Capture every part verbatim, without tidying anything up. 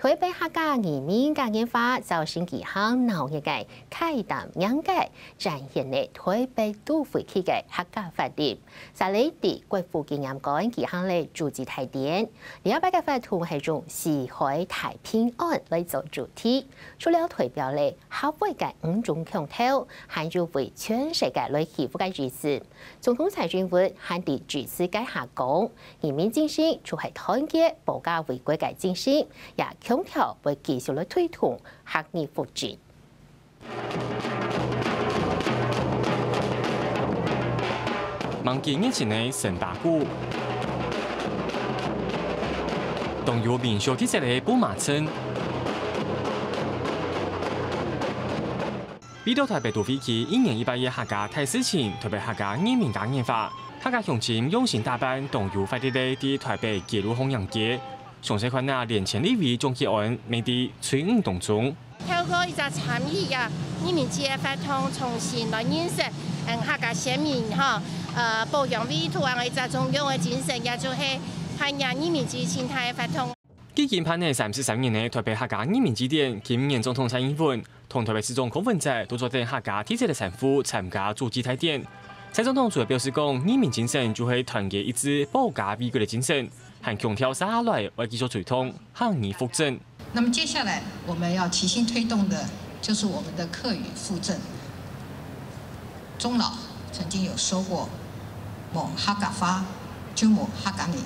台北客家義民嘉年華造成幾項鬧熱个開店迎界，展現了台北都會區个客家活力。在這地，國父紀念館舉行了主旨大典。這擺个活動係用四海大平安來做主題，除了代表了客話个五種腔調，還有為全世界來祈福个意思。 總統蔡英文還在致詞該下講，義民精神就係團結保家衛國个精神，也強調會繼續來推動客義復振。望見熱情个辛巴古，當有民俗特色个布麻村。 為著台北都會區一年一擺个客家大事情，台北客家義民嘉年華，客家鄉親用心打扮，當有活力个在台北街路項迎接。詳細看啊，連前立委鍾吉安，乜在隊伍當中。透過一隻參與啊，義民節个活動，重新來認識，嗯，客家先民吼，呃，保養故土啊，一隻重要个精神，也就係辦理義民節盡大个活動。 距今辦了三十三年个台北客家義民祭典，今年總統蔡英文同台北市長柯文哲都做等客家特色个衫褲參加主祭大典。蔡總統除了表示講，義民精神就係團結一致、保家衛國个精神，還強調接下來會繼續推動客義復振。那麼接下來我們要齊心推動的，就是我們的客語復振。鍾老曾經有說過：「無客家話，就無客家人。」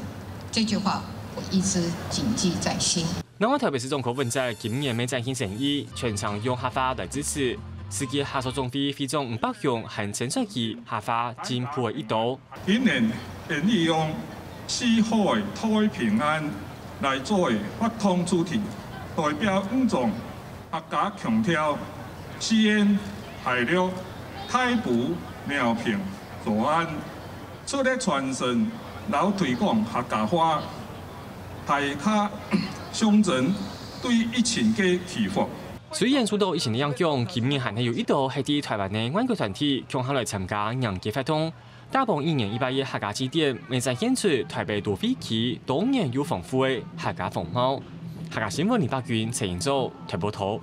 這句話我一直謹記在心。另外，台北市長柯文哲今年乜展現誠意，全程用客話來致詞。世界客屬總會會長吳伯雄還稱讚佢客話進步个一途。今年願意用四海大平安來作為活動主題，代表五種客家腔調：四縣、海陸、大埔、饒平、詔安，除了傳承摎推廣客家話，大家象徵對疫情个祈福。雖然受到疫情个影響，今年還係有一度係在台灣个外國團體共下來參加迎接活動。 打幫一年一擺个客家祭典，乜展現出台北都會區多元又豐富个客家風貌。客家新聞李百君、陳英洲，台北報導。